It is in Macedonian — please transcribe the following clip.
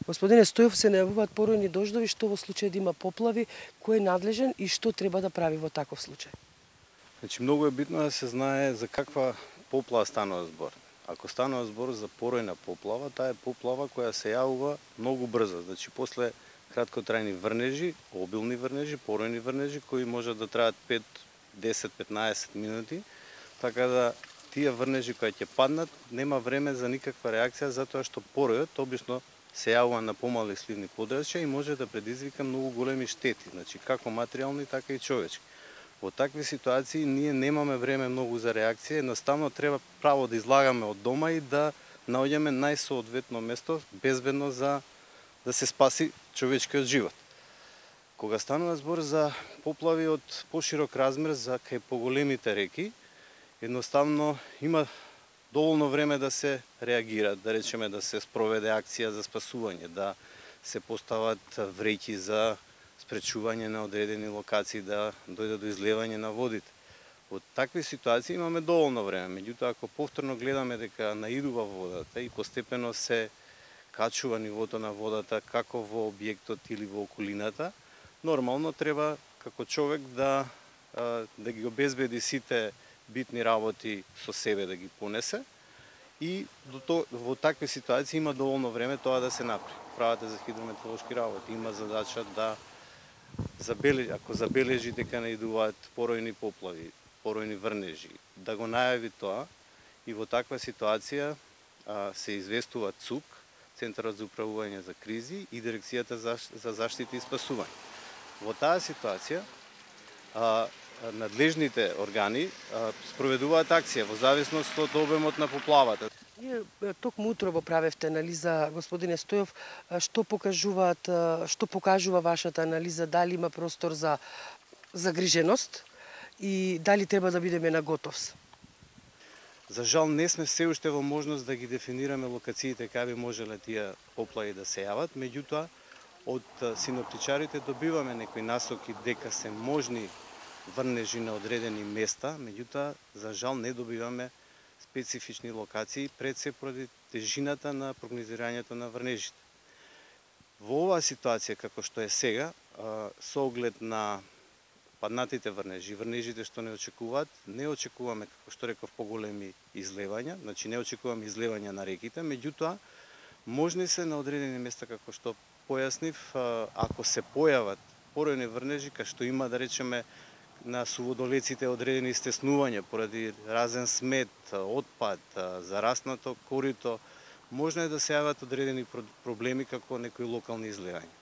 Господине Стојов, се најавуваат поројни дождови, што во случај да има поплави, кој е надлежен и што треба да прави во таков случај? Значи, многу е битно да се знае за каква поплава станува збор. Ако станува збор за поројна поплава, таа е поплава која се јавува многу брзо. Значи, после краткотрајни врнежи, обилни врнежи, поројни врнежи, кои можат да траат 5, 10, 15 минути, така да тие врнежи кои ќе паднат, нема време за никаква реакција, затоа што поројот обично се јавува на помали сливни подрачја и може да предизвика многу големи штети, значи како материјални, така и човечки. Во такви ситуации ние немаме време многу за реакција, едноставно треба право да излагаме од дома и да наоѓаме најсоодветно место, безбедно за да се спаси човечкиот живот. Кога станува збор за поплави од поширок размер за кај поголемите реки, едноставно има доволно време да се реагира, да речеме да се спроведе акција за спасување, да се постават вреќи за спречување на одредени локации, да дојде до излевање на водите. Во такви ситуации имаме доволно време, меѓутоа ако повторно гледаме дека наидува водата и постепено се качува нивото на водата како во објектот или во околината, нормално треба како човек да ги обезбеди сите битни работи со себе да ги понесе и во такви ситуации има доволно време тоа да се направи. Правата за хидрометеоролошки работи има задача да ако забележи дека наидуваат поројни поплави, поројни врнежи, да го најави тоа и во таква ситуација се известува ЦУК, Центарот за управување за кризи и Дирекцијата за заштита и спасување. Во таа ситуација надлежните органи спроведуваат акција во зависност од обемот на поплавата. Ние токму утрово правевте анализа, господине Стојов, што покажува вашата анализа, дали има простор за загриженост и дали треба да бидеме на готовс? За жал не сме се уште во можност да ги дефинираме локациите каде би можеле тие поплави да се јават, меѓутоа од синоптичарите добиваме некои насоки дека се можни врнежи на одредени места, меѓутоа за жал не добиваме специфични локации пред се поради тежината на прогнозирањето на врнежите. Во оваа ситуација како што е сега, со оглед на паднатите врнежи, врнежите што не очекуваме, како што реков, поголеми излевања, значи не очекуваме излевања на реките, меѓутоа можни се на одредени места, како што појаснив, ако се појават поројни врнежи, кај што има, да речеме, на суводолеците одредени стеснувања поради разен смет, отпад, зараснато корито, можно е да се јават одредени проблеми како некои локални излевања.